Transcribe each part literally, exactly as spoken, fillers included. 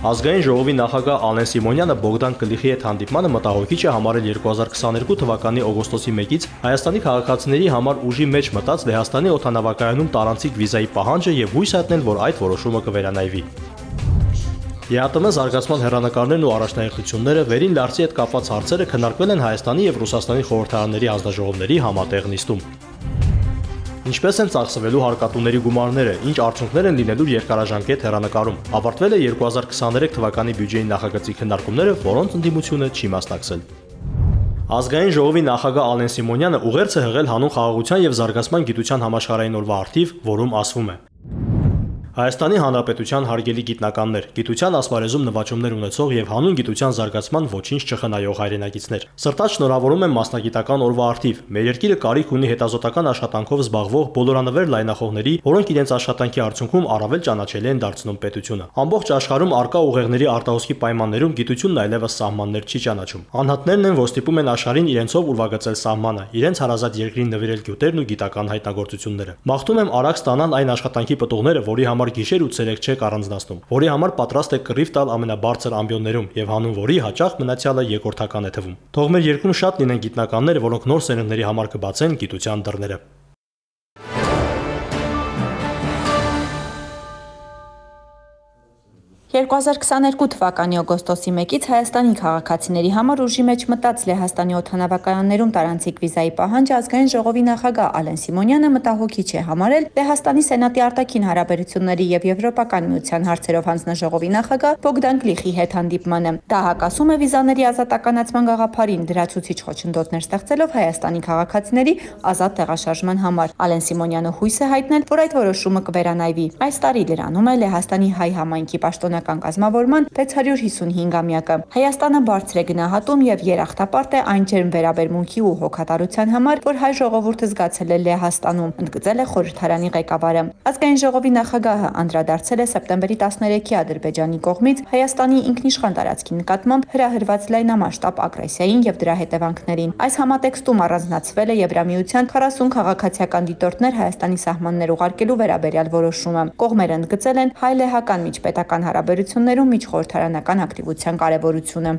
Ազգային ժողովի նախագահ Ալեն Սիմոնյանը Բոգդան Կլիխի հետ հանդիպմանը մտահոգիչ է համարել երկու հազար քսաներկու թվականի օգոստոսի մեկից Հայաստանի քաղաքացիների համար ուժի մեջ մտած Լեհաստանի օդանավակայանում տարանցիկ վիզայի պահանջը եւ հույս հայտնել, որ այդ որոշումը կվերանայվի։ ԵԱՏՄ զարգացման հեռանկարներն ու առաջնահերթությունները վերին լարցի հետ կապված հարցերը քննարկվել են Հայաստանի եւ Ռուսաստանի խորհրդարանների հանձնաժողովների համատեղ նիստում։ Ինչպես են ծախսվելու հարկատուների գումարները, ինչ արդյունքներ են լինելու երկարաժամկետ հեռանկարում։ Ավարտվել է երկու հազար քսաներեք թվականի բյուջեի նախագծի քննարկումները, որոնց ընդդիմությունը չի մասնակցել։ Ազգային ժողովի նախագահ Ալեն Սիմոնյանը ուղերձ է հղել հանուն խաղաղության եւ զարգացման գիտության համաշխարհային օրվա առթիվ, որում ասվում է. Հայաստանի Հանրապետության հարգելի գիտնականներ, գիտության ասպարեզում նվաճումներ ունեցող եւ հանուն գիտության զարգացման ոչինչ չխնայող հայրենակիցներ։ Սրտաճ շնորհավորում եմ մասնագիտական օրվա առթիվ։ Մեր երկիրը կարիք ունի հետազոտական աշխատանքով զբաղվող բոլորանվեր լայնախոհների, որոնք իրենց աշխատանքի արդյունքում առավել ճանաչելի են դարձնում պետությունը։ Ամբողջ աշխարհում արկա ուղեղների արտահոսքի պայմաններում գիտությունն այլևս սահմաններ չի ճանաչում։ Անհատներն են, որ ստիպում են աշխարհին իրենցով ուրվագծել սահմանը, իրենց հարազատ երկրին նվիրել գյուտերն ու գիտական հայտնագործությունները։ Մաղթում եմ արագ ստանան այն աշխատանքի պտուղները, որի համար գիշեր ու ցերեկ չեք առանձնացնում, որի համար պատրաստ է կռիվ տալ ամենաբարձր ամբիոններում եւ հանուն որի հաճախ մնացյալը երկրորդական է թվում։ Թող մեր երկրում շատ լինեն գիտնականներ, որոնք նոր սերունդների համար կբացեն գիտության դռները։ երկու հազար քսաներկու թվականի օգոստոսի մեկից Հայաստանի քաղաքացիների համար ուժի մեջ մտած Լեհաստանի օդանավակայաններում տարանցիկ վիզայի պահանջը ազգային ժողովի նախագահ Ալեն Սիմոնյանը մտահոգիչ է համարել Լեհաստանի Սենատի արտաքին հարաբերությունների եւ Եվրոպական միության հարցերով հանձնաժողովի նախագահ Բոգդան Կլիխի հետ հանդիպմանը։ Դա հակասում է վիզաների ազատականացման գաղափարին, լրացուցիչ խոչընդոտներ ստեղծելով Հայաստանի քաղաքացիների ազատ տեղաշարժման համար։ Ալեն Սիմոնյանը հույս է հայտնել, որ այդ որոշումը կվերանայվի։ Այս տարի լրանում է Լեհաստանի հայ համայնքի պաշտոնական կազմավորման վեց հարյուր հիսունհինգամյակը։ Հայաստանը բարձր է գնահատում եւ երախտապարտ է այն ջերմ վերաբերմունքի ու հոգատարության համար, որ հայ ժողովուրդը զգացել է Լեհաստանում, ընդգծել է խորհրդարանի ղեկավարը։ Ազգային ժողովի նախագահը անդրադարձել է սեպտեմբերի տասներեքի Ադրբեջանի կողմից Հայաստանի ինքնիշխան տարածքի նկատմամբ հրահրված լայնամասշտաբ ագրեսիային եւ դրա հետևանքներին։ Այս համատեքստում առանձնացվել է Եվրամիության քառասուն քաղաքացիական դիտորդներ Հայաստանի սահմաններ ուղարկելու վերաբերյալ որոշումը։ Կողմերը ընդգծել են հայ-լեհական միջպետական հարաբերություններում միջխորհրդարանական ակտիվության կարևորությունը։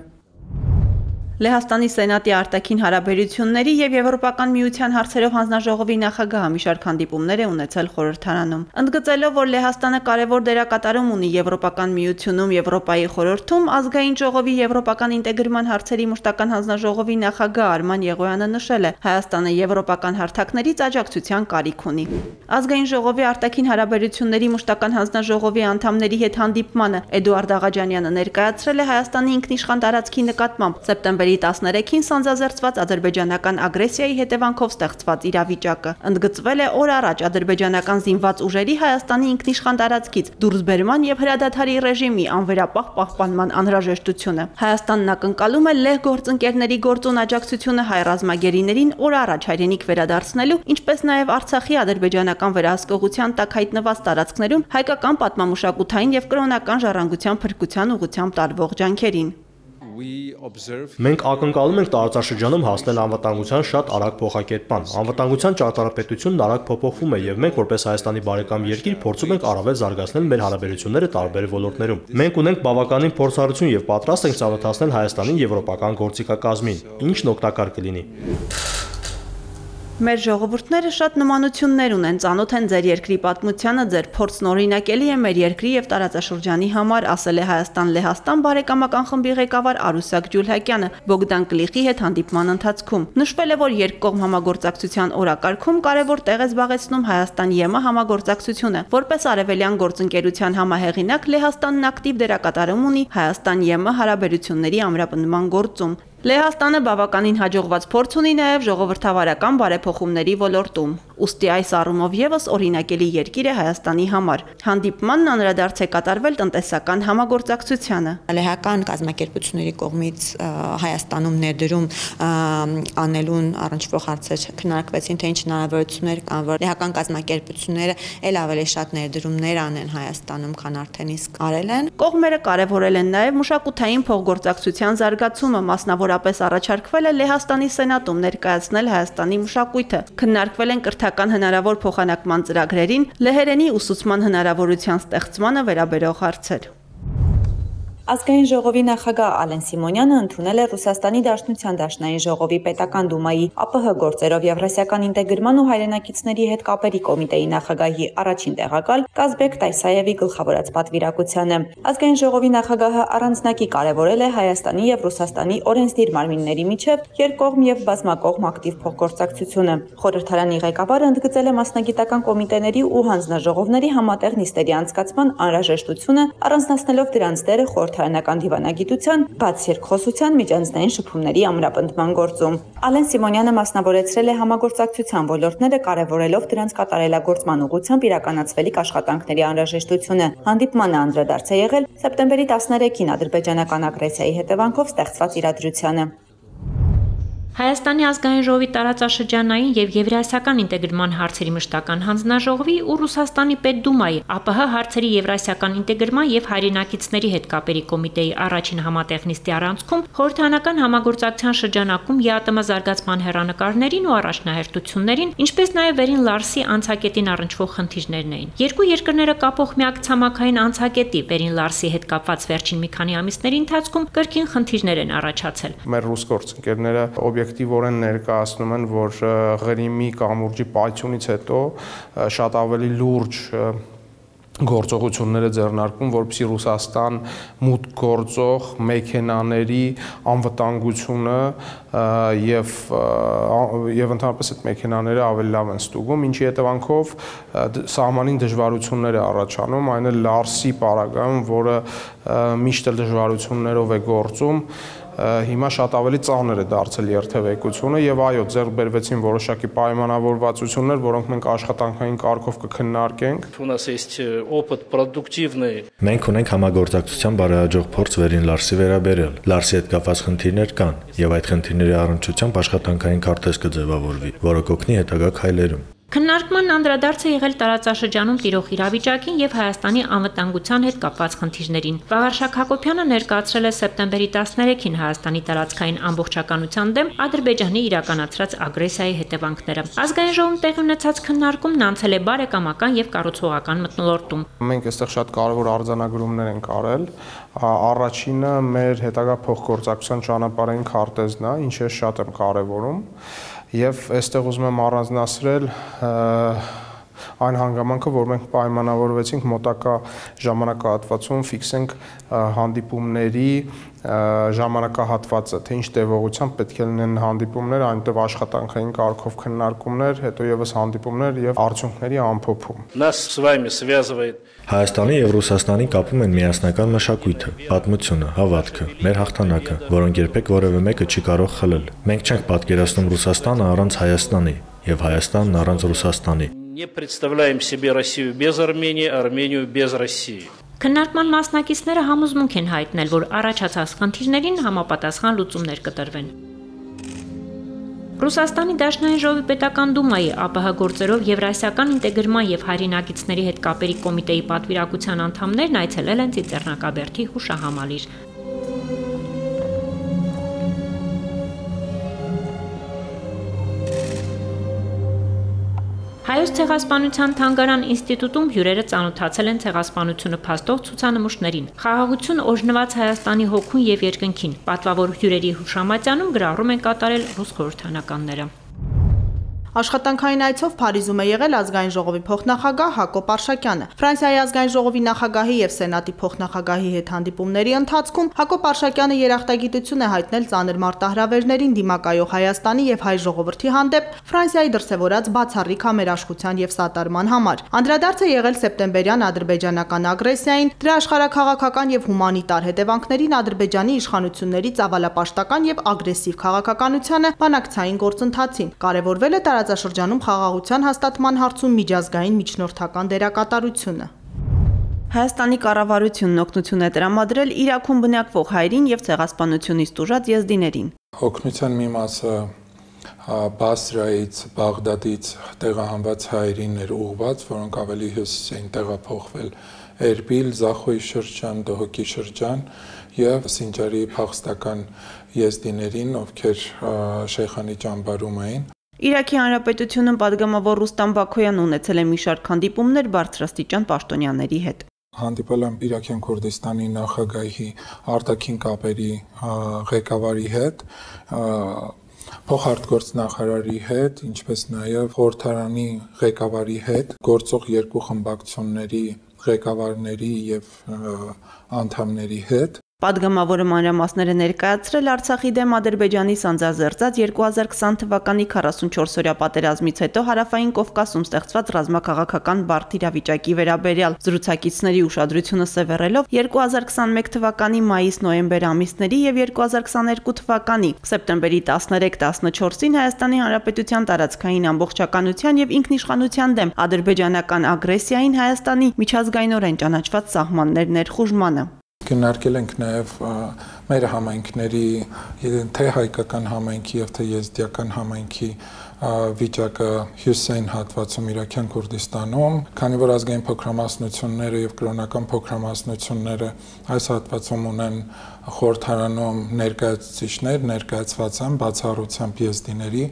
Լեհաստանի Սենատի արտաքին հարաբերությունների եւ Եվրոպական միության հարցերով հանձնաժողովի նախագահը մի շարք հանդիպումներ է ունեցել խորհրդարանում։ Ընդգծելով, որ Լեհաստանը կարևոր դերակատարում ունի Եվրոպական միությունում, Եվրոպայի խորհրդում, ազգային ժողովի եվրոպական ինտեգրման հարցերի մշտական հանձնաժողովի նախագահ Արման Եղոյանը նշել է, Հայաստանը եվրոպական հարթակներից աջակցության կարիք ունի։ Ազգային ժողովի արտաքին հարաբերությունների մշտական հանձնաժողովի անդամների հետ հանդիպմանը Էդուարդ Աղաջանյանը ներկայացրել է Հայաստանի ինքնիշխան տարածքի նկատմամբ սեպտեմբերի տասներեքին սանձազերծված ադրբեջանական ագրեսիայի հետևանքով ստեղծված իրավիճակը։ Ընդգծվել է օր առաջ ադրբեջանական զինված ուժերի Հայաստանի ինքնիշխան տարածքից դուրսբերման եւ հրադադարի ռեժիմի անվերապահ պահպանման անհրաժեշտությունը։ Հայաստանն ակնկալում է լեհ գործընկերների գործուն աջակցությունը հայ ռազմագերիներին օր առաջ հայրենիք վերադարձնելու, ինչպես նաեւ Արցախի ադրբեջանական վերահսկողության տակ հայտնված տարածքներում հայկական պատմամշակութային եւ կրոնական ժառանգության փրկության ուղղությամբ տարվող ջանքերին։ Մենք ակնկալում ենք տարածաշրջանում հասնել անվտանգության շատ արագ փոխակերպման։ Անվտանգության ճարտարապետությունն արագ փոփոխվում է եւ մենք որպես Հայաստանի բարեկամ երկիր փորձում ենք առավել զարգացնել մեր հարաբերությունները տարբեր ոլորտներում։ Մենք ունենք բավականին փորձառություն եւ պատրաստ ենք ծանոթացնել Հայաստանին եվրոպական գործիքակազմին, ինչն օգտակար կլինի։ Մեր ժողովուրդները շատ նմանություններ ունեն, ծանոթ են ձեր երկրի պատմությանը, ձեր փորձն օրինակելի է մեր երկրի եւ տարածաշրջանի համար, ասել է Հայաստան-Լեհաստան բարեկամական խմբի ղեկավար Արուսակ Ջուլհակյանը Բոգդան Կլիխի հետ հանդիպման ընթացքում։ Նշվել է, որ երկկողմ համագործակցության օրակարգում կարևոր տեղ է զբաղեցնում Հայաստան-ԵՄ համագործակցությունը, որպես արևելյան գործընկերության համահեղինակ Լեհաստանն ակտիվ դերակատարում ունի Հայաստան-ԵՄ հարաբերությունների ամրապնդման գործում։ Լեհաստանը բավականին հաջողված փորձ ունի նաև ժողովրդավարական բարեփոխումների ոլորտում։ Ուստի այս առումով եւս օրինակելի երկիր է Հայաստանի համար։ Հանդիպմանն անդրադարձ է կատարվել տնտեսական համագործակցությանը։ Լեհական կազմակերպությունների կողմից Հայաստանում ներդրում անելուն առնչվող հարցեր քննարկվեցին, թե ինչ հնարավորություններ կան, որ լեհական կազմակերպությունները ել ավելի շատ ներդրումներ անեն Հայաստանում, քան արդեն իսկ արել են։ Կողմերը կարևորել են նաև մշակութային փոխգործակցության զարգացումը, մասնավորապես առաջարկվել է Լեհաստանի Սենատում ներկայացնել Հայաստանի մշակույթը։ Քննարկվել են կրթական հնարավոր փոխանակման ծրագրերին, լեհերենի ուսուցման հնարավորության ստեղծմանը վերաբերող հարցեր։ Ազգային ժողովի նախագահ Ալեն Սիմոնյանը ընդունել է Ռուսաստանի Դաշնության Դաշնային ժողովի պետական դումայի ԱՊՀ գործերով Եվրասիական ինտեգրման ու հայրենակիցների հետ կապերի կոմիտեի նախագահի առաջին տեղակալ Կազբեկ Տայսաևի գլխավորած պատվիրակությանը։ Ազգային ժողովի նախագահը առանձնակի կարևորել է Հայաստանի եւ Ռուսաստանի օրենսդիր մարմինների միջև երկկողմ եւ բազմակողմ ակտիվ փոխգործակցությունը։ Խորհրդարանի ղեկավարը ընդգծել է մասնագիտական կոմիտեների ու հանձնաժողովների համատեղ նիստերի անցկացման անհրաժեշտությունը, առանձնացնելով դրանց դերը խորհրդարանական դիվանագիտության, բաց երկխոսության, միջանձնային շփումների ամրապնդման գործում։ Ալեն Սիմոնյանը մասնավորեցրել է համագործակցության ոլորտները, կարևորելով դրանց կատարելագործման ուղղությամբ իրականացվելիք աշխատանքների անհրաժեշտությունը։ Հանդիպմանը անդրադարձ է եղել սեպտեմբերի տասներեքին ադրբեջանական ագրեսիայի հետևանքով ստեղծված իրադրությանը։ Հայաստանի ազգային ժողովի տարածաշրջանային եւ եվրասիական ինտեգրման հարցերի մշտական հանձնաժողովի ու Ռուսաստանի Պետդումայի ԱՊՀ հարցերի եվրասիական ինտեգրման եւ հայրենակիցների հետ կապերի կոմիտեի առաջին համատեղ նիստի առանցքում խորհրդարանական համագործակցության շրջանակում ԵԱՏՄ զարգացման հեռանկարներին ու առաջնահերթություններին, ինչպես նաեւ Վերին Լարսի անցակետին առնչվող խնդիրներն էին։ Երկու երկրները կապող միակ ցամաքային անցակետի Վերին Լարսի հետ կապված վերջին մի քանի ամիսների ընթացքում կրկին խնդիրներ են առաջացել։ Մեր ռուս գործընկերները օբյեկտիվորեն ներկայացնում են, որ Ղրիմի կամուրջի պայթյունից հետո շատ ավելի լուրջ գործողությունները ձեռնարկում, որպեսզի Ռուսաստան մուտք գործող մեքենաների անվտանգությունը եւ եւ ընդհանրապես այդ մեքենաները ավելի լավ են ստուգում, ինչի հետևանքով սահմանին դժվարություններ է առաջանում, այն էլ Լարսի պարագայում, որը միշտ էլ դժվարություններով է գործում, հիմա շատ ավելի ծանր է դարձել երթևեկությունը եւ այո, ձեռք բերվեցին որոշակի պայմանավորվածություններ, որոնք մենք աշխատանքային կարգով կքննարկենք։ Մենք ունենք համագործակցության բարեհաջող փորձ Վերին Լարսի վերաբերյալ։ Լարսի հետ կապված խնդիրներ կան եւ այդ խնդիրների առնչությամբ աշխատանքային քարտեզ կձևավորվի, որը կօգնի հետագա քայլերում։ Քննարկման անդրադարձ է եղել տարածաշրջանում տիրող իրավիճակին եւ Հայաստանի անվտանգության հետ կապված խնդիրներին։ Վաղարշակ Հակոբյանը ներկայացրել է սեպտեմբերի տասներեքին Հայաստանի տարածքային ամբողջականության դեմ Ադրբեջանի իրականացրած ագրեսիայի հետևանքները։ Ազգային ժողովում տեղի ունեցած քննարկումն անցել է բարեկամական եւ կառուցողական մթնոլորտում։ Մենք այստեղ շատ կարևոր արձանագրումներ ենք արել։ Առաջինը մեր հետագա փոխգործակցության ճանապարհային քարտեզն է, ինչը շատ եմ կարևորում։ Եվ այստեղ ուզում եմ առանձնացրել այն հանգամանքը, որ մենք պայմանավորվեցինք մոտակա ժամանակահատվածում ֆիքսենք հանդիպումների ժամանակահատվածը, թե ինչ տևողությամբ պետք է լինեն հանդիպումներ, այնտեղ աշխատանքային կարգով քննարկումներ, հետո եւս հանդիպումներ եւ արդյունքների ամփոփում։ Հայաստանի եւ Ռուսաստանի կապում են միասնական մշակույթը, պատմությունը, հավատքը, մեր հաղթանակը, որոնք երբեք որևէ մեկը չի կարող խլել։ Մենք չենք պատկերացնում Ռուսաստանը առանց Հայաստանի եւ Հայաստանն առանց Ռուսաստանի։ Не представляем себе Россию без Армении, Армению без России. Քննարկման մասնակիցները համոզմունք են հայտնել, որ առաջացած խնդիրներին համապատասխան լուծումներ կտրվեն։ Ռուսաստանի Դաշնային ժողովի պետական դումայի ԱՊՀ գործերով Եվրասիական ինտեգրման եւ հայրենակիցների հետ կապերի կոմիտեի պատվիրակության անդամներն այցելել են Ծիծեռնակաբերդի հուշահամալիր։ Հայոց ցեղասպանության թանգարան ինստիտուտում հյուրերը ծանոթացել են ցեղասպանությունը փաստող ցուցանմուշներին։ Խաղաղություն օրհնված Հայաստանի հոգուն եւ երկնքին։ Պատվավոր հյուրերի հուշամատյանում գրառում են կատարել ռուս խորհրդանականները։ Աշխատանքային այցով Փարիզում է եղել ազգային ժողովի փոխնախագահ Հակոբ Արշակյանը։ Ֆրանսիայի ազգային ժողովի նախագահի եւ Սենատի փոխնախագահի հետ հանդիպումների ընթացքում Հակոբ Արշակյանը երախտագիտություն է հայտնել ծանր մարտահրավերներին դիմակայող Հայաստանի եւ հայ ժողովրդի հանդեպ Ֆրանսիայի դրսեւորած բացառիկ համերաշխության եւ սատարման համար։ Անդրադարձ է եղել սեպտեմբերյան ադրբեջանական ագրեսիային, դրա աշխարհաքաղաքական եւ հումանիտար հետևանքներին Ադրբեջանի իշխանությունների ծավալապաշտական եւ ագրեսիվ քաղաքականությանը, բանակցային գործընթացին։ Կարևորվել է տարածաշրջանում խաղաղության հաստատման հարցում միջազգային միջնորդական դերակատարությունը։ Հայաստանի կառավարությունն օգնություն է տրամադրել Իրաքում բնակվող հայերին եւ ցեղասպանությունից տուժած եզդիներին։ Օգնության մի մասը Բասրայից, Բաղդադից տեղահանված հայերին էր ուղղված, որոնք ավելի հյուսիս էին տեղափոխվել Էրբիլ, Զախոյի շրջան, Դոհոկի շրջան եւ Սինջարի փախստական եզդիներին, ովքեր Շեյխանի ճամբարում էին։ Իրաքի Հանրապետությունում падգամավոր Ռուստամ Բաքոյանը ունեցել է մի շարք հանդիպումներ բարձրաստիճան պաշտոնյաների հետ։ Հանդիպել եմ Իրաքյան Քուրդիստանի նախագահի արտաքին կապերի ղեկավարի հետ, փոխարտգործնախարարի հետ, ինչպես նաև խորհրդարանի ղեկավարի հետ, գործող երկու խմբակցությունների ղեկավարների եւ անդամների հետ։ Պատգամավորը մանրամասները ներկայացրել Արցախի դեմ Ադրբեջանի սանձազերծած երկու հազար քսան թվականի քառասունչորսօրյա պատերազմից հետո Հարավային Կովկասում ստեղծված ռազմաքաղաքական բարդ իրավիճակի վերաբերյալ զրուցակիցների ուշադրությունը սևեռելով երկու հազար քսանմեկ թվականի մայիս-նոյեմբեր ամիսների եւ երկու հազար քսաներկու թվականի սեպտեմբերի տասներեք տասնչորսին Հայաստանի Հանրապետության տարածքային ամբողջականության եւ ինքնիշխանության դեմ ադրբեջանական ագրեսիային Հայաստանի միջազգայինորեն ճանաչված սահմաններ ներխուժմանը։ Քննարկել ենք նաև մեր համայնքների, թե հայկական համայնքի եւ թե եզդիական համայնքի վիճակը հյուսային հատվածում Իրաքյան Քուրդիստանում, քանի որ ազգային փոքրամասնությունները եւ կրոնական փոքրամասնությունները այս հատվածում ունեն խորհրդարանում ներկայացուցիչներ, ներկայացված են բացառությամբ եզդիների,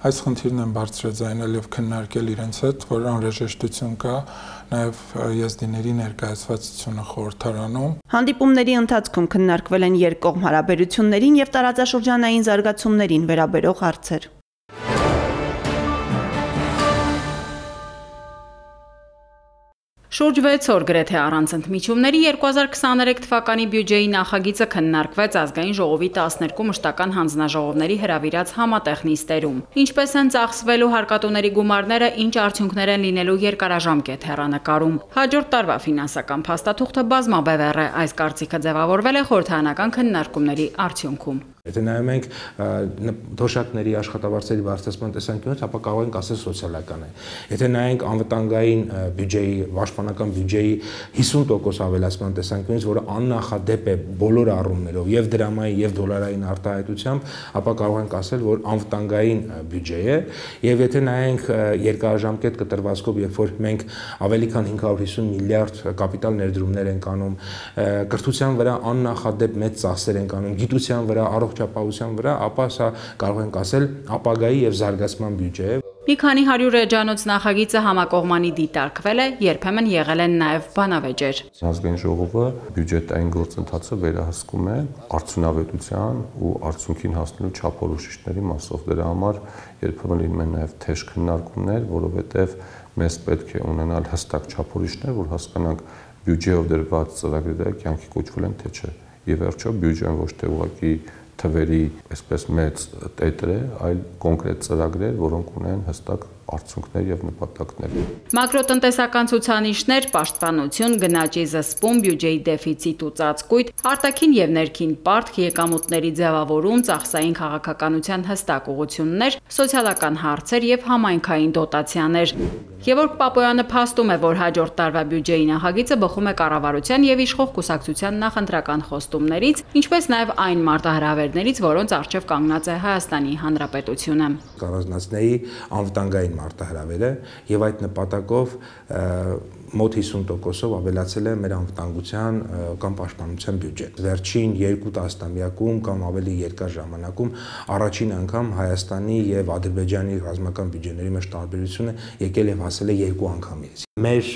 այս խնդիրն են բարձրաձայնել եւ քննարկել իրենց հետ, որ անհրաժեշտություն կա նաև եզդիների ներկայացվածությունը խորհրդարանում։ Հանդիպումների ընթացքում քննարկվել են երկկողմ հարաբերություններին եւ տարածաշրջանային զարգացումներին վերաբերող հարցեր։ Շուրջ վեց օր գրեթե առանց ընդմիջումների երկու հազար քսաներեք թվականի բյուջեի նախագիծը քննարկվեց ազգային ժողովի տասներկու մշտական հանձնաժողովների հրավիրած համատեղ նիստերում։ Ինչպես են ծախսվելու հարկատուների գումարները, ինչ արդյունքներ են լինելու երկարաժամկետ հեռանկարում։ Հաջորդ տարվա ֆինանսական փաստաթուղթը բազմաբևեռ է, այս կարծիքը ձևավորվել է խորհրդարանական քննարկումների արդյունքում։ Եթե նայում ենք թոշակների աշխատավարձերի բարձրացման տեսանկյունից, ապա կարող ենք ասել սոցիալական է։ Եթե նայենք անվտանգային բյուջեի, պաշտպանական բյուջեի հիսուն տոկոս ավելացման տեսանկյունից, որը աննախադեպ է բոլոր առումներով, եւ դրամային եւ դոլարային արտահայտությամբ, ապա կարող ենք ասել, որ անվտանգային բյուջե է, եւ եթե նայենք երկարաժամկետ կտրվածքով, երբ որ մենք ավելի քան հինգ հարյուր հիսուն միլիարդ կապիտալ ներդրումներ ենք անում, կրթության վրա աննախադեպ մեծ ծախսեր ենք անում, գիտության վրա, առողջապահության վրա, ապա սա կարող ենք ասել ապագայի եւ զարգացման բյուջե է։ Մի քանի հարյուր էջանոց նախագիծը համակողմանի դիտարկվել է, երբեմն եղել են նաև բանավեճեր։ Ազգային ժողովը բյուջետային գործընթացը վերահսկում է արդյունավետության ու արդյունքին հասնելու չափորոշիչների մասով։ Դրա համար երբեմն լինում են նաև թեժ քննարկումներ, որովհետև մեզ պետք է ունենալ հստակ չափորոշիչներ, որ հասկանանք բյուջեով դրված ծրագրերը կյանքի կոչվել են թե չէ։ Եվ վերջո բյուջեն ոչ թե ուղղակի թվերի այսպես մեծ տետր է, այլ կոնկրետ ծրագրեր, որոնք ունեն հստակ արդյունքներ եւ նպատակներ։ Մակրոտնտեսական ցուցանիշներ, պաշտպանություն, գնաճի զսպում, բյուջեի դեֆիցիտ ու ծածկույթ, արտաքին եւ ներքին պարտք, եկամուտների ձևավորում, ծախսային քաղաքականության հստակ ուղղություններ, սոցիալական հարցեր եւ համայնքային դոտացիաներ։ Գևորգ Պապոյանը փաստում է, որ հաջորդ տարվա բյուջեի նախագիծը բխում է կառավարության եւ իշխող կուսակցության նախընտրական խոստումներից, ինչպես նաեւ այն մարտահրավերներից, որոնց առջեւ կանգնած է Հայաստանի Հանրապետությունը։ Կառավարությունների անվտանգային մարտահրավերը եւ այդ նպատակով մոտ հիսուն տոկոսով ավելացել է մեր անվտանգության կամ պաշտպանության բյուջեն։ Վերջին երկու տասնամյակում կամ ավելի երկար ժամանակում առաջին անգամ Հայաստանի եւ Ադրբեջանի ռազմական բյուջեների մեջ տարբերությունը եկել եւ հասել է երկու անգամի։ Մեր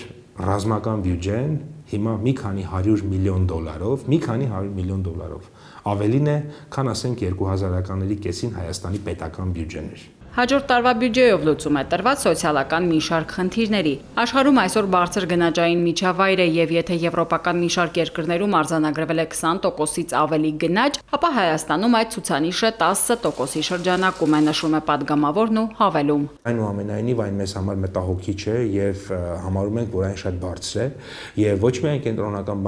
ռազմական բյուջեն հիմա մի քանի հարյուր միլիոն դոլարով, մի քանի հարյուր միլիոն դոլարով ավելին է, քան ասենք երկու հազարականների կեսին Հայաստանի պետական բյուջեն էր։ Հաջորդ տարվա բյուջեով լուծում է տրված սոցիալական մի շարք խնդիրների։ Աշխարհում այսօր բարձր գնաճային միջավայր է եւ եթե եվրոպական մի շարք երկրներում արձանագրվել է քսան տոկոսից ավելի գնաճ, ապա Հայաստանում այդ ցուցանիշը տասը տոկոսի շրջանակում է, նշում է падգամավորն ու հավելում։ Այնուամենայնիվ այն մեզ համար մտահոգիչ է եւ համարում ենք, որ այն շատ բարձր է եւ ոչ միայն կենտրոնական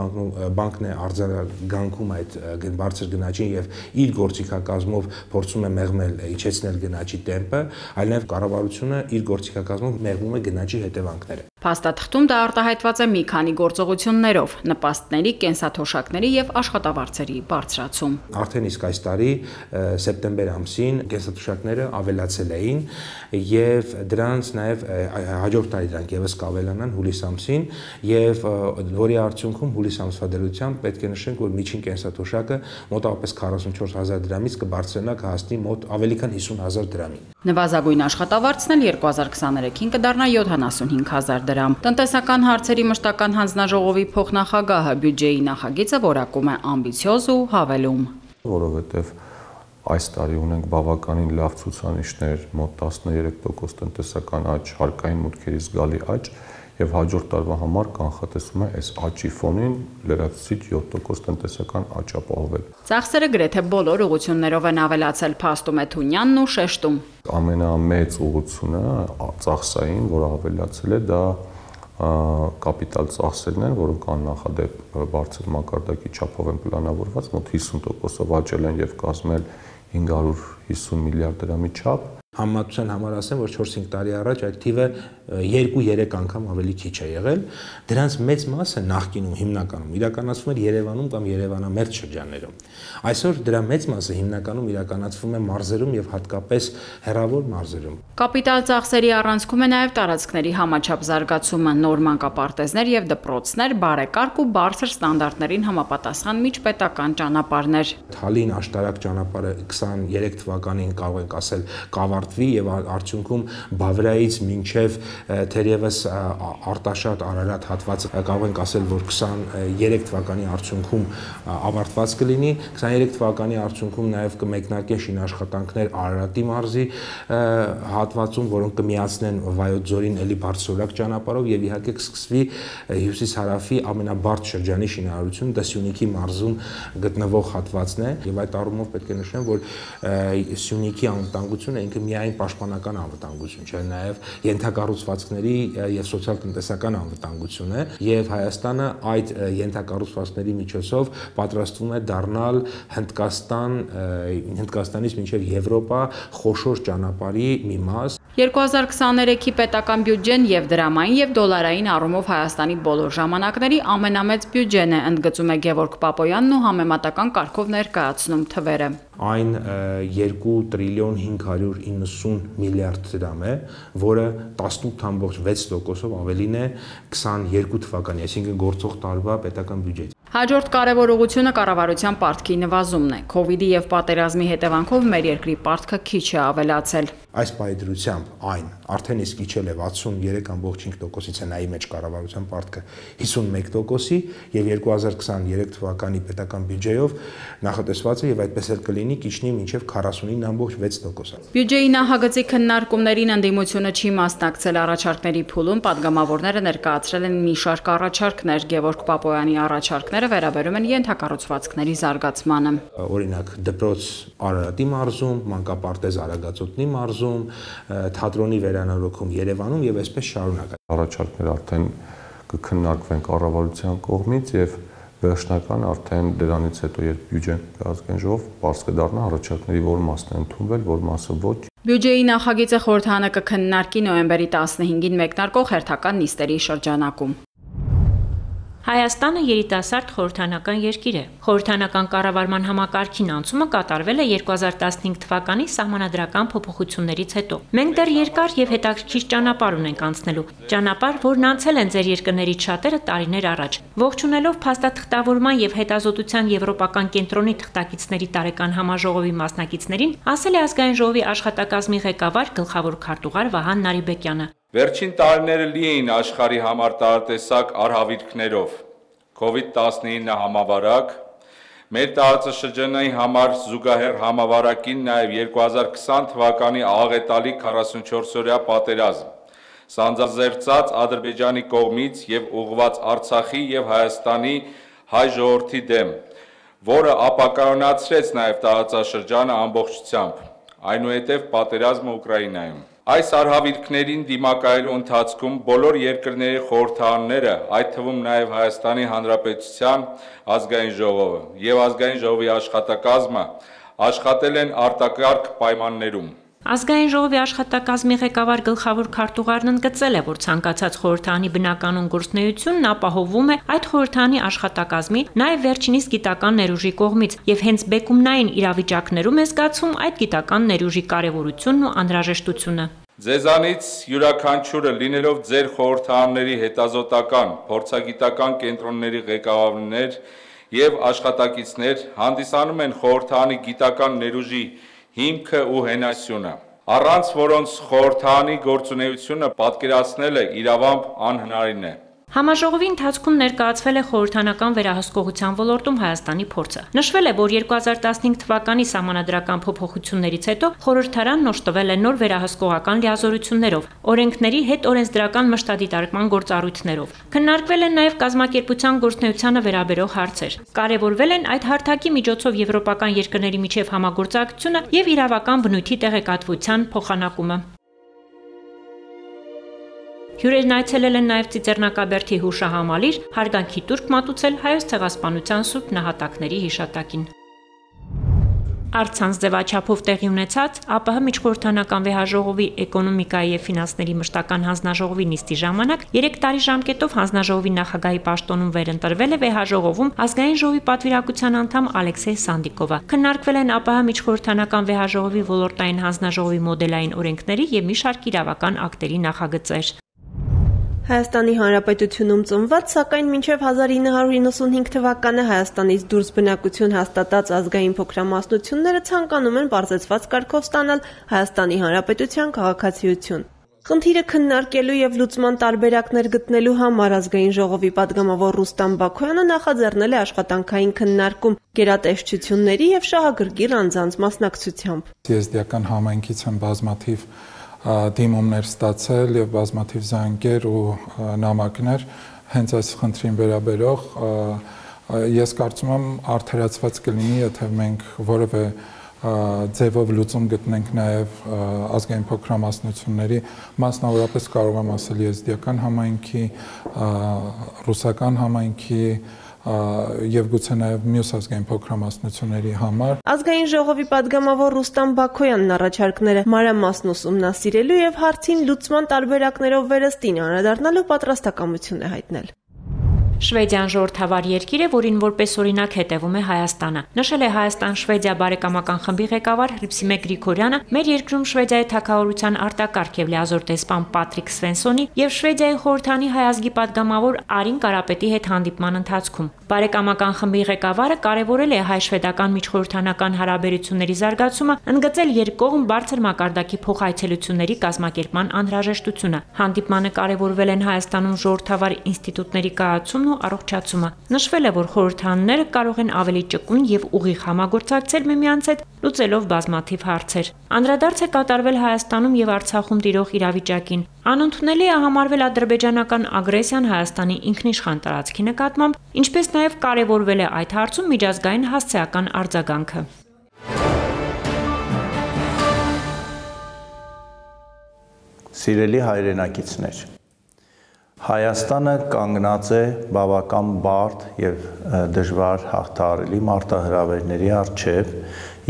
բանկն է արձագանքում այդ բարձր գնաճին եւ իր գործիքակազմով փորձում է մեղմել, իջեցնել գնաճի տեմպը, այլ նաև կառավարությունը իր գործիքակազմով մեղմում է գնաճի հետևանքները։ Փաստաթղթում դա արտահայտված է մի քանի գործողություններով՝ նպաստների, կենսաթոշակների եւ աշխատավարձերի բարձրացում։ Արդեն իսկ այս տարի սեպտեմբեր ամսին կենսաթոշակները ավելացել էին եւ դրանց նաեւ հաջորդ տարի դրանք եւս կավելանան հուլիս ամսին եւ որի արդյունքում հուլիս ամսվա դրությամբ պետք է նշենք, որ միջին կենսաթոշակը մոտավորապես քառասունչորս հազար դրամից կբարձրանա կհասնի մոտ ավելի քան հիսուն հազար դրամի։ Նվազագույն աշխատավարձն էլ երկու հազար քսաներեքին կդառնա յոթանասունհինգ հազար դրամ։ դրամ։ Տնտեսական հարցերի մշտական հանձնաժողովի փոխնախագահը բյուջեի նախագիծը որակում է ամբիցիոզ ու հավելում։ Որովհետև այս տարի ունենք բավականին լավ ցուցանիշներ, մոտ տասներեք տոկոս տնտեսական աճ, հարկային մուտքերի զգալի աճ եւ հաջորդ տարվա համար կանխատեսում է այս աճի ֆոնին լրացուցիչ յոթ տոկոս տնտեսական աճ ապահովել։ Ծախսերը գրեթե բոլոր ուղղություններով են ավելացել, փաստում է Թունյանն ու շեշտում։ Ամենամեծ ուղղությունը ծախսային, որը ավելացել է, դա կապիտալ ծախսերն են, որոնք աննախադեպ բարձր մակարդակի չափով են պլանավորված, մոտ հիսուն տոկոսով աճել են եւ կազմել հինգ հարյուր հիսուն միլիարդ դրամի չափ։ Համատության համար ասեմ, որ չորս-հինգ տարի առաջ այդ թիվը երկու-երեք անգամ ավելի քիչ է եղել։ Դրանց մեծ մասը նախկինում հիմնականում իրականացվում էր Երևանում կամ Երևանամերձ շրջաններում։ Այսօր դրա մեծ մասը հիմնականում իրականացվում է մարզերում եւ հատկապես հեռավոր մարզերում։ Կապիտալ ծախսերի առանցքում է նաեւ տարածքների համաչափ զարգացումը, նոր մանկապարտեզներ եւ դպրոցներ, բարեկարգ ու բարձր ստանդարտներին համապատասխան միջպետական ճանապարհներ։ Թալին աշտարակ ճանապարհը քսաներեք թվականին կարող ենք ասել կավարտվի եւ արդյունքում Բավրիայից մինչեւ թերևս Արտաշատ Արարատ հատվածը կարող ենք ասել, որ քսաներեք թվականի արդյունքում ավարտված կլինի, քսաներեք թվականի արդյունքում նաև կմեկնարկեն շինաշխատանքներ Արարատի մարզի հատվածում, որոնք կմիացնեն Վայոց ձորին էլի բարձրորակ ճանապարհով եւ իհարկե կսկսվի հյուսիս-հարավի ամենաբարձր շրջանի շինարարությունը, դա Սյունիքի մարզում գտնվող հատվածն է եւ այդ առումով պետք է նշեմ, որ Սյունիքի անվտանգությունը ինքը միայն պաշտպանական անվտանգություն չէ, նաեւ ենթակառուցվածքների եւ սոցիալ-տնտեսական անվտանգություն է եւ Հայաստանը այդ ենթակառուցվածքների միջոցով պատրաստվում է դառնալ Հնդկաստան, Հնդկաստանից մինչեւ Եվրոպա խոշոր ճանապարհի մի մաս։ երկու հազար քսաներեքի պետական բյուջեն եւ դրամային եւ դոլարային առումով Հայաստանի բոլոր ժամանակների ամենամեծ բյուջեն է, ընդգծում է Գևորգ Պապոյանն ու համեմատական կարգով ներկայացնում թվերը։ Այն երկու տրիլիոն հինգ հարյուր իննսուն միլիարդ դրամ է, որը տասնութ տասնութ վեց տոկոսով ավելին է քսաներկու թվականի, այսինքն գործող տարվա պետական բյուջետ։ Հաջորդ կարևոր ուղղությունը կառավարության պարտքի նվազումն է։ Քովիդի եւ պատերազմի հետևանքով մեր երկրի պարտքը քիչ է ավելացել։ Այս պայծրությամբ այն արդեն իսկ իջել է վաթսուններեք տասնյոթ տոկոսից է նայի մեջ կառավարության պարտքը հիսունմեկ տոկոսի եւ երկու հազար քսաներեք թվականի պետական բյուջեով նախատեսված է եւ այդպես էլ կլինի կիջնի մինչեւ քառասունինը տասնինը վեց տոկոս։ Բյուջեի նախագծի քննարկումներին ընդդիմությունը չի մասնակցել առաջարկների փուլում, падգամավորները ներկայացրել են մի շարք առաջարկներ, Գևորգ Պապոյանի առաջարկները վերաբերում են ենթակառուցվածքների զարգացմանը։ Օրինակ դպրոց Արարատի մարզում, մանկապարտեզ Արագածոտնի մարզում, թատրոնի վերանորոգում Երևանում եւ այսպես շարունակ։ Առաջարկները արդեն կքննարկվեն կառավարության կողմից եւ վերջնական արդեն դրանից հետո երբ բյուջեն կազգային ժողով բարձ կդառնա առաջարկների որ մասն է ընդունվել, որ մասը ոչ։ Բյուջեի նախագիծը խորհրդարանը կքննարկի նոյեմբերի տասնհինգին մեկնարկող հերթական նիստերի շրջանակում։ Հայաստանը երիտասարդ խորհրդանական երկիր է։ Խորհրդանական կառավարման համակարգին անցումը կատարվել է երկու հազար տասնհինգ թվականի սահմանադրական փոփոխություններից հետո։ Մենք դեռ երկար եւ հետաքրքիր ճանապարհ ունենք անցնելու։ Ճանապարհ, որն անցել են ձեր երկրներից շատերը տարիներ առաջ։ Ողջունելով փաստաթղթավորման եւ հետազոտության եվրոպական կենտրոնի թղթակիցների տարեկան համաժողովի մասնակիցներին, ասել է ազգային ժողովի աշխատակազմի ղեկավար գլխավոր քարտուղար Վահան Նարիբեկյանը։ Վերջին տարիները լի էին աշխարհի համար տարատեսակ արհավիրքներով, քովիդ տասնինը համավարակ, մեր տարածաշրջանային համար զուգահեռ համավարակին նաև երկու հազար քսան թվականի աղետալի քառասունչորսօրյա պատերազմ, սանձազերծած Ադրբեջանի կողմից եւ ուղղված Արցախի եւ Հայաստանի հայ ժողովրդի դեմ, որը ապակայունացրեց նաև տարածաշրջանը ամբողջությամբ, այնուհետև պատերազմը Ուկրաինայում։ Այս արհավիրքներին դիմակայելու ընթացքում բոլոր երկրների խորհրդարանները, այդ թվում նաև Հայաստանի Հանրապետության ազգային ժողովը եւ ազգային ժողովի աշխատակազմը աշխատել են արտակարգ պայմաններում։ Ազգային ժողովի աշխատակազմի ղեկավար գլխավոր քարտուղարն ընդգծել է, որ ցանկացած խորհրդարանի բնականon գործունեությունն ապահովվում է այդ խորհրդարանի աշխատակազմի, նաև վերջինիս գիտական ներուժի կողմից, եւ հենց բեկումնային իրավիճակներում է զգացում այդ գիտական ներուժի կարեւորությունն ու անհրաժեշտությունը։ Ձեզանից յուրաքանչյուրը լինելով ձեր խորհրդարանների հետազոտական, փորձագիտական կենտրոնների ղեկավարներ եւ աշխատակիցներ հանդիսանում են խորհրդարանի գիտական ներուժի հիմքը ու հենասյունը։ առանց որոնց խորհրդանի գործունեությունը պատկերացնելը իրավամբ անհնարին է։ Համաժողովի ընթացքում ներկայացվել է խորհրդանական վերահսկողության ոլորտում Հայաստանի փորձը։ Նշվել է, որ երկու հազար տասնհինգ թվականի սահմանադրական փոփոխություններից հետո խորհրդարանն օժտվել է նոր վերահսկողական լիազորություններով, օրենքների հետ օրենսդրական մշտադիտարկման գործառույթներով։ Քննարկվել են նաև կազմակերպության գործունեությանը վերաբերող հարցեր։ Կարևորվել են այդ հարթակի միջոցով եվրոպական երկրների միջև համագործակցությունը եւ իրավական բնույթի տեղեկատվության փոխանակումը։ Հյուրերն այցելել են նաև Ծիծեռնակաբերդի հուշահամալիր, հարգանքի տուրք մատուցել Հայոց ցեղասպանության սուրբ նահատակների հիշատակին։ Առցանց ձևաչափով տեղի ունեցած ԱՊՀ միջխորհրդանական վեհաժողովի էկոնոմիկայի եւ ֆինանսների մշտական հանձնաժողովի նիստի ժամանակ երեք տարի ժամկետով հանձնաժողովի նախագահի պաշտոնում վերընտրվել է վեհաժողովում ազգային ժողովի պատվիրակության անդամ Ալեքսեյ Սանդիկովը։ Քննարկվել են ԱՊՀ միջխորհրդանական վեհաժողովի ոլորտային հանձնաժողովի մոդելային օրենքների եւ մի շարք իրավական ակտերի նախագծեր։ Հայաստանի Հանրապետությունում ծնված, սակայն մինչև հազար ինը հարյուր իննսունհինգ թվականը Հայաստանից դուրս բնակություն հաստատած ազգային փոքրամասնությունները ցանկանում են բարձրացված կարգով ստանալ Հայաստանի Հանրապետության քաղաքացիություն։ Խնդիրը քննարկելու եւ լուծման տարբերակներ գտնելու համար ազգային ժողովի падգամավոր Ռուստամ Բաքոյանը նախաձեռնել է աշխատանքային քննարկում գերատեսչությունների եւ շահագրգիռ անձանց մասնակցությամբ։ Եզդիական համայնքից են բազմաթիվ դիմումներ ստացել եւ բազմաթիվ զանգեր ու նամակներ հենց այս խնդրին վերաբերող ես կարծում եմ արդարացված կլինի, եթե մենք որևէ ձևով լուծում գտնենք նաեւ ազգային փոքրամասնությունների, մասնավորապես կարող եմ ասել եզդիական համայնքի, ռուսական համայնքի եւ գուցե նաեւ մյուս ազգային փոքրամասնությունների համար։ Ազգային ժողովի падգամավոր Ռուստամ Բաքոյանն առաջարկները մանրամասն ուսումնասիրելու եւ հարցին լուծման տարբերակներով վերստին անդրադառնալու պատրաստակամություն է հայտնել։ Շվեդիան ժողովրդավար երկիր է, որին որպես օրինակ հետևում է Հայաստանը։ Նշել է Հայաստան-Շվեդիա բարեկամական խմբի ղեկավար Հրիփսիմե Գրիգորյանը, մեր երկրում Շվեդիայի թագավորության արտակարգ եւ լիազոր դեսպան Պատրիկ Սվենսոնի եւ Շվեդիայի խորհրդանի հայ ազգի падգամավոր Արին Կարապետի հետ հանդիպման ընթացքում։ Բարեկամական խմբի ղեկավարը կարևորել է հայ-շվեդական միջխորհրդանական հարաբերությունների զարգացումը, ընդգծել երկկողմ բարձր մակարդակի փոխայցելությունների կազմակերպման անհրաժեշտությունը։ Հանդիպմանը կարևորվել են Հայաստանում ժողովրդավար ինստիտուտների կայացումն ու առողջացումը։ Նշվել է, որ խորհրդանները կարող են ավելի ճկուն եւ ուղիղ համագործակցել միմյանց հետ, լուծելով բազմաթիվ հարցեր։ Անդրադարձ է կատարվել Հայաստանում եւ Արցախում տիրող իրավիճակին։ Անընդունելի է համարվել ադրբեջանական ագրեսիան Հայաստանի ինքնիշխան տարածքի նկատմամբ, ինչպես նաեւ կարևորվել է այդ հարցում միջազգային հասցեական արձագանքը։ Սիրելի հայրենակիցներ, Հայաստանը կանգնած է բավական բարդ եւ դժվար հաղթահարելի մարտահրավերների առջեւ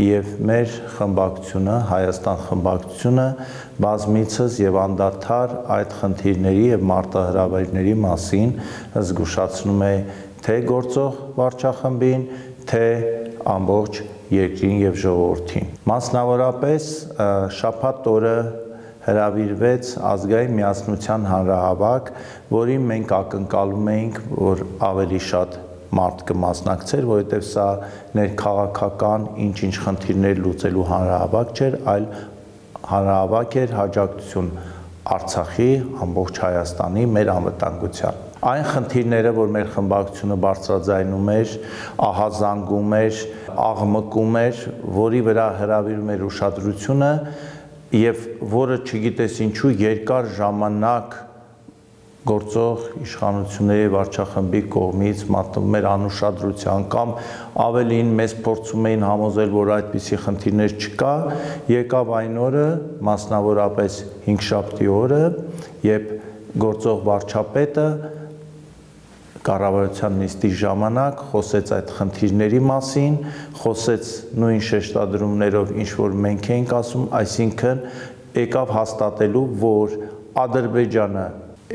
եւ մեր խմբակցությունը, Հայաստան խմբակցությունը բազմիցս եւ անդադար այդ խնդիրների եւ մարտահրավերների մասին զգուշացնում է թե գործող վարչախմբին, թե ամբողջ երկրին եւ ժողովրդին։ Մասնավորապես շաբաթ օրը հրավիրվեց ազգային միասնության հանրահավաք, որին մենք ակնկալում էինք, որ ավելի շատ մարդ կմասնակցեր, որովհետև սա ներքաղաքական ինչ-ինչ խնդիրներ լուծելու հանրահավաք չէր, այլ հանրահավաք էր հաջողություն Արցախի, ամբողջ Հայաստանի, մեր անվտանգության։ Այն խնդիրները, որ մեր խմբակցությունը բարձրաձայնում էր, ահազանգում էր, աղմկում էր, որի վրա հրավիրում էր ուշադրությունը, եւ որը չգիտես ինչու երկար ժամանակ գործող իշխանությունների վարչախմբի կողմից մատնվում էր անուշադրության կամ ավելին մեզ փորձում էին համոզել, որ այդպիսի խնդիրներ չկա, եկավ այն օրը, մասնավորապես հինգշաբթի օրը, երբ գործող վարչապետը կառավարության նիստի ժամանակ խոսեց այդ խնդիրների մասին, խոսեց նույն շեշտադրումներով, ինչ որ մենք էինք ասում, այսինքն եկավ հաստատելու, որ Ադրբեջանը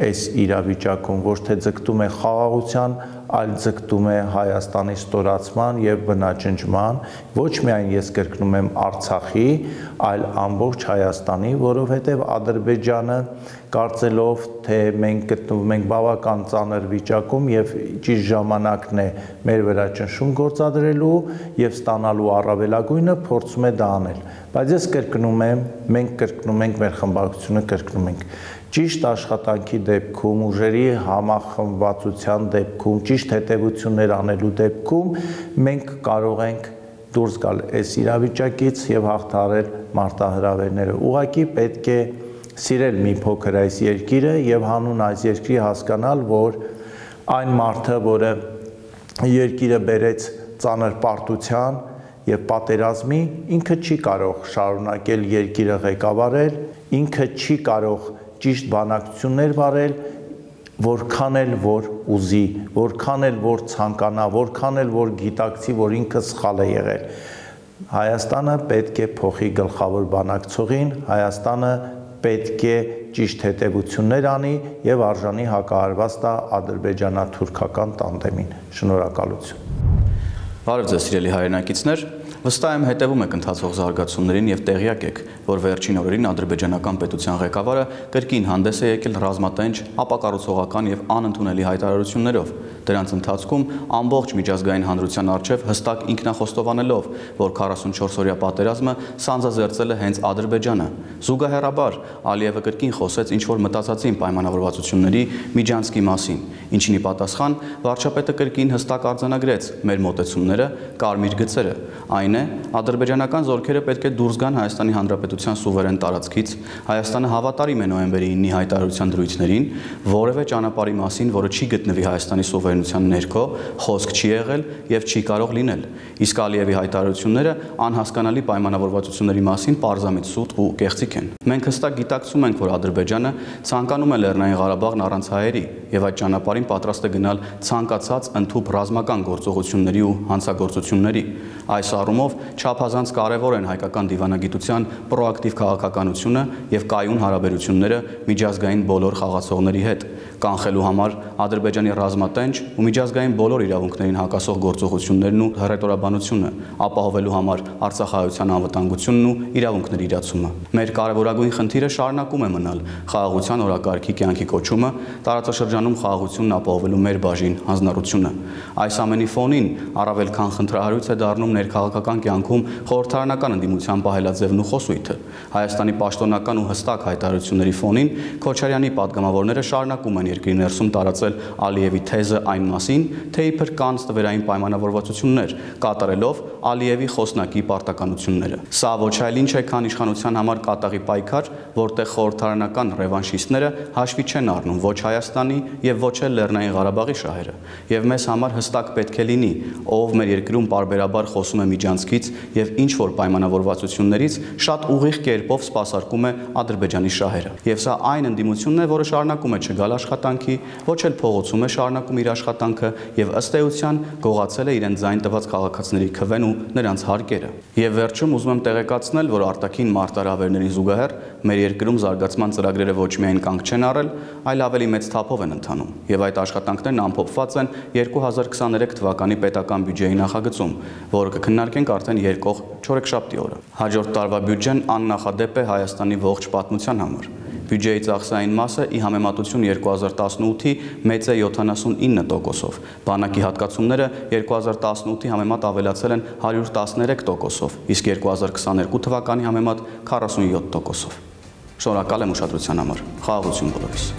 այս իրավիճակում, ոչ թե ձգտում է խաղաղության, այլ ձգտում է Հայաստանի ստորացման եւ բնաջնջման, ոչ միայն ես կրկնում եմ Արցախի, այլ ամբողջ Հայաստանի, որովհետեւ Ադրբեջանը կարծելով, թե մենք գտնվում ենք բավական ծանր վիճակում եւ ճիշտ ժամանակն է մեր վրա ճնշում գործադրելու եւ ստանալու առավելագույնը, փորձում է դա անել։ Բայց ես կրկնում եմ, մենք կրկնում ենք, մեր խմբակցությունը կրկնում ենք, ճիշտ աշխատանքի դեպքում, ուժերի համախմբվածության դեպքում, ճիշտ հետևություններ անելու դեպքում մենք կարող ենք դուրս գալ այս իրավիճակից եւ հաղթահարել մարտահրավերները։ Ուղղակի պետք է սիրել մի փոքր այս երկիրը եւ հանուն այս երկրի հասկանալ, որ այն մարդը, որը երկիրը բերեց ծանր պարտության եւ պատերազմի, ինքը չի կարող շարունակել երկիրը ղեկավարել, ինքը չի կարող ճիշտ բանակցություններ վարել, որքան էլ որ ուզի, որքան էլ որ ցանկանա, որքան էլ որ գիտակցի, որ ինքը սխալ է եղել։ Հայաստանը պետք է փոխի գլխավոր բանակցողին, Հայաստանը պետք է ճիշտ հետևություններ անի եւ արժանի հակահարված տա ադրբեջանա-թուրքական տանդեմին։ Շնորհակալություն։ Բարև ձեզ սիրելի հայրենակիցներ, վստահ եմ հետևում եք ընթացող զարգացումներին եւ տեղյակ եք, որ վերջին օրերին ադրբեջանական պետության ղեկավարը կրկին հանդես է եկել ռազմատենչ, ապակառուցողական եւ անընդունելի հայտարարություններով։ Դրանց ընթացքում ամբողջ միջազգային հանրության առջև հստակ ինքնախոստովանելով, որ քառասունչորս-օրյա պատերազմը սանձազերծել է հենց Ադրբեջանը։ Զուգահեռաբար Ալիևը կրկին խոսեց ինչ-որ մտածածին պայմանավորվածությունների միջանցքի մասին, ինչին ի պատասխան վարչապետը կրկին հստակ արձանագրեց մեր մոտեցումները, կարմիր գծերը։ Այն է, ադրբեջանական զորքերը պետք է դուրս գան Հայաստանի Հանրապետության սուվերեն տարածքից, Հայաստանը հավատարիմ է նոյեմբերի ինի հայտարարության դրույթներին, որևէ ճանապարհի մասին, որը չի գտնվի Հայաստանի սուվերենության ներքո, խոսք չի եղել եւ չի կարող լինել։ Իսկ Ալիևի հայտարարությունները անհասկանալի պայմանավորվածությունների մասին պարզամիտ սուտ ու կեղծիք են։ Մենք հստակ գիտակցում ենք, որ Ադրբեջանը ցանկանում է Լեռնային Ղարաբաղն առանց հայերի եւ այդ ճանապարհին պատրաստ է գնալ ցանկացած ընդհանուր ռազմական գործողությունների ու հանցագործությունների։ Այս առումով չափազանց կարևոր են հայկական դիվանագիտության պրոակտիվ քաղաքականությունը եւ կայուն հարաբերությունները միջազգային բոլոր խաղացողների հետ, կանխելու համար Ադրբեջանի ռազմատենչ ու միջազգային բոլոր իրավունքներին հակասող գործողություններն ու հռետորաբանությունը, ապահովելու համար Արցախայության անվտանգությունն ու իրավունքների իրացումը։ Մեր կարևորագույն խնդիրը շարունակում է մնալ խաղաղության օրակարգի կյանքի կոչումը, տարածաշրջանում խաղաղությունն ապահովելու մեր բաժին հանձնառությունը։ Այս ամենի ֆոնին առավել քան խնդրահարույց է դառնում ներքաղաքական կյանքում խորհրդարանական ընդդիմության պահելաձևն ու խոսույթը։ Հայաստանի պաշտոնական ու հստակ հայտարարությունների ֆոնին Քոչարյանի падգամավորները շարունակում են երկրի ներսում տարածել Ալիևի թեզը այն մասին, թե իբր կան ստվերային պայմանավորվածություններ, կատարելով Ալիևի խոսնակի պարտականությունները։ Սա ոչ այլ ինչ է, քան իշխանության համար կատաղի պայքար, որտեղ խորհրդարանական ռևանշիստները հաշվի չեն առնում ոչ Հայաստանի եւ ոչ էլ Լեռնային Ղարաբաղի շահերը։ Եվ մեզ համար հստակ պետք է լինի, ով մեր երկրում պարբերաբար խոսում է միջանցքից եւ ինչ որ պայմանավորվածություններից շատ ուղիղ կերպով սպասարկում է Ադրբեջանի շահերը։ Եվ սա այն ընդդիմությունն է, որը շարունակում է չգալ աշխատանքի, ոչ էլ փողոցում է շարունակում իր աշխատանքը եւ ըստ էության գողացել է իրեն ձայն տված քաղաքացիների քվեն ու նրանց հարկերը։ Եվ վերջում ուզում եմ տեղեկացնել, որ արտաքին մարտահրավերներին զուգահեռ մեր երկրում զարգացման ծրագրերը ոչ միայն կանգ չեն առել, այլ ավելի մեծ թափով են ընթանում եւ այդ աշխատանքներն ամփոփված են երկու հազար քսաներեք թվականի պետական բյուջեի նախագծում, որը կքննարկենք արդեն եկող չորեքշաբթի օրը։ Հաջորդ տարվա բյուջեն աննախադեպ է Հայաստանի ողջ պատմության համար։ Բյուջեի ծախսային մասը ի համեմատություն երկու հազար տասնութի մեծ է յոթանասունինը տոկոսով։ Բանակի հատկացումները երկու հազար տասնութի համեմատ ավելացել են հարյուր տասներեք տոկոսով, իսկ երկու հազար քսաներկու թվականի համեմատ քառասունյոթ տոկոսով։ Շնորհակալ եմ ուշադրության համար։ Խաղաղություն բոլորիս։